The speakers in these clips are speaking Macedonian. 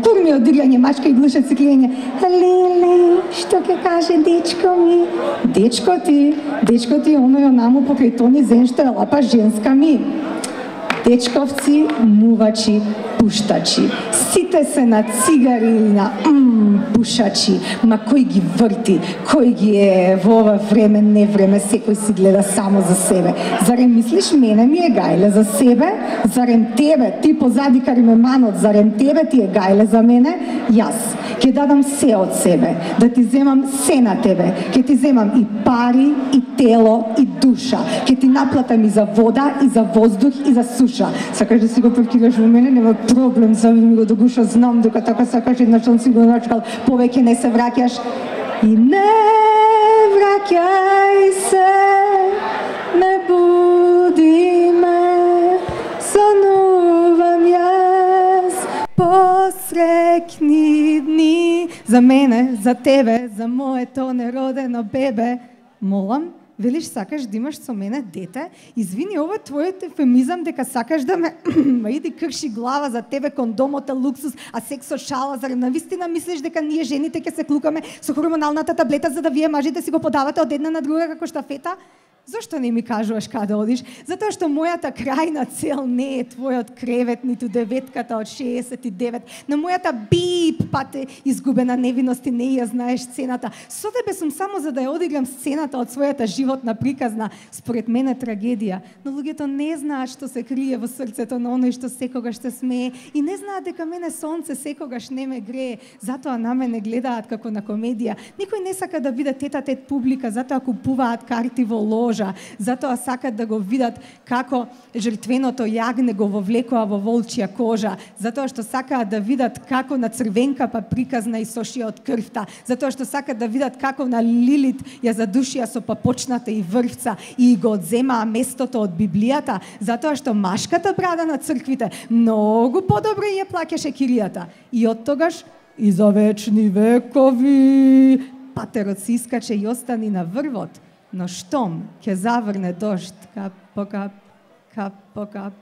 турми од играње мачка и глуша циклење. Леле, што ќе каже дечко ми? Дечко ти оној онаму покрај тони зен што е лапа женска ми. Дечковци, мувачи, пуштачи. Сите се на цигари или на пушачи. Ма кој ги врти, кој ги е во ова време, не време, секој си гледа само за себе. Зарем мислиш мене ми е гајле за себе? Зарем тебе, ти позади кари ме манот, зарем тебе ти е гајле за мене? Јас ќе дадам се од себе, да ти земам се на тебе, ќе ти земам и пари, и тело, и душа, ќе ти наплатам и за вода, и за воздух, и за суша. Сакаш да си го паркираш во мене, нема проблем, сами ми го догуша, знам дека така сакаш, еднаш он си го начкал, повеќе не се враќаш. И не враќај се, не буди ме, сонувам јас, посрекни дни. За мене, за тебе, за моето неродено бебе, молам, велиш сакаш да имаш со мене дете, извини, ова е твојот ефемизам дека сакаш да ме иди крши глава за тебе, кондомот е луксус, а секс со шала, зарем навистина мислиш дека ние жените ќе се клукаме со хормоналната таблета за да вие мажите си го подавате од една на друга како штафета? Зошто не ми кажуваш каде одиш? Затоа што мојата крајна цел не е твојот кревет, ниту деветката од 69. На мојата бип пат е изгубена невиност и не ја знаеш сцената. Со тебе сум само за да ја одиграм сцената од својата животна приказна, според мене трагедија. Но луѓето не знаат што се крие во срцето на оној што секогаш се смее и не знаат дека мене сонце секогаш не ме грее. Затоа на мене гледаат како на комедија. Никој не сака да биде тета-тет публика, затоа купуваат карти во лож. Затоа сакат да го видат како жртвеното јагне го вовлекува во волчја кожа, затоа што сакаат да видат како на црвенка па приказна и сошија од крвта, затоа што сакаат да видат како на Лилит ја задушија со папочната и врвца и го одземаа местото од Библијата, затоа што машката брада на црквите многу подобро ја плаќаше киријата. И оттогаш и за вечни векови патерот се искаче и остани на врвот. Но штом ќе заврне дожд, кап по кап, кап по кап,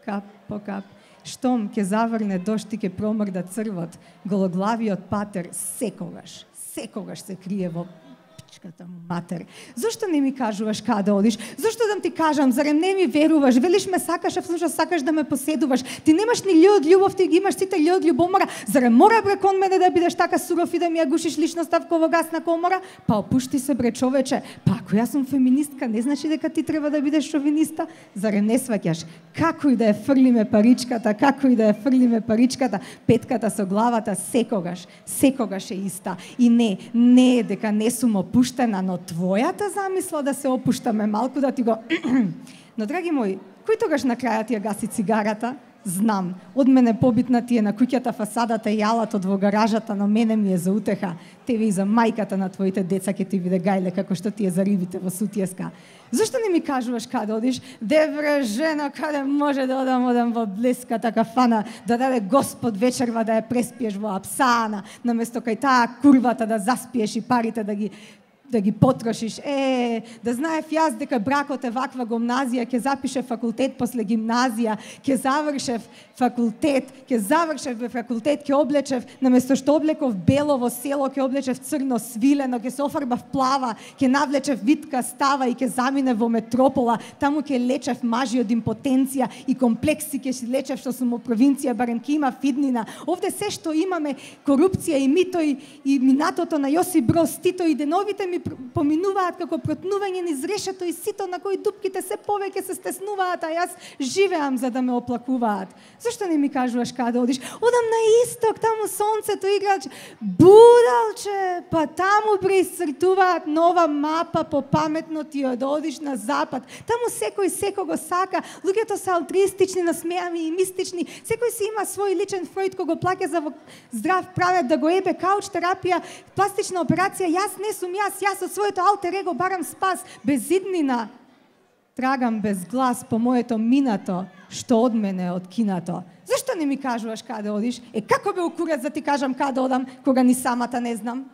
кап по кап, штом ќе заврне дожд и ќе промрда црвот, гологлавиот патер секогаш се крие во пичката му матер. Зошто не ми кажуваш каде одиш? Зошто да ти кажам, зарем не ми веруваш? Велиш ме сакаш, а всушност сакаш да ме поседуваш. Ти немаш ни људ љубов, ти ги имаш сите људ љубомора. Зарем мора бре кон мене да бидеш така суров и да ми ја гушиш личноста во гасна комора? Па опушти се бре човече. Па ако јас сум феминистка, не значи дека ти треба да бидеш шовиниста? Зарем не сваќаш? Како и да ја фрлиме паричката, петката со главата секогаш е иста. И не е дека не сум опуштена, но твојата замисла да се опуштаме малку да ти го... Но, драги мои, кој тогаш на крајот ја гаси цигарата? Знам, од мене побитна ти е на куќата фасадата и јалатот во гаражата, но мене ми е за утеха. Тебе и за мајката на твоите деца ќе ти биде гајле како што ти е за рибите во сутиеска. Зошто не ми кажуваш каде одиш? Девре жена, каде може да одам во блеската кафана, да даде Господ вечерва да ја преспиеш во Апсана, наместо кај таа курвата да заспиеш и парите да ги потрошиш. Да знаев јас дека бракот е ваква гимназија, ќе запишев факултет после гимназија, ќе завршев факултет, ќе облечев, наместо што облеков бело во село, ќе облечев црно свилено, ќе се офарбав плава, ќе навлечев витка става и ќе замине во метропола, таму ќе лечев мажи од импотенција и комплекси, ќе си лечев што сум во провинција, барем ќе има фиднина. Овде се што имаме, корупција и мито и минатото на Јосип Броз Тито и деновите ми поминуваат како протнување низ решето и сито на кои дупките се повеќе се стеснуваат, а јас живеам за да ме оплакуваат. Зошто не ми кажуваш каде одиш? Одам на исток, таму сонцето игра, будалче, па таму преисцртуваат нова мапа по паметно ти да одиш на запад. Таму секој секого сака, луѓето се алтруистични, насмеами и мистични, секој си има свој личен Фројд кој го плаќа за здрав правец да го ебе, кауч терапија, пластична операција. Јас не сум јас од своето алтер его барам спас, без иднина. Трагам без глас по моето минато, што од мене од кинато. Зашто не ми кажуваш каде одиш? Како бе укурец да ти кажам каде одам, кога ни самата не знам?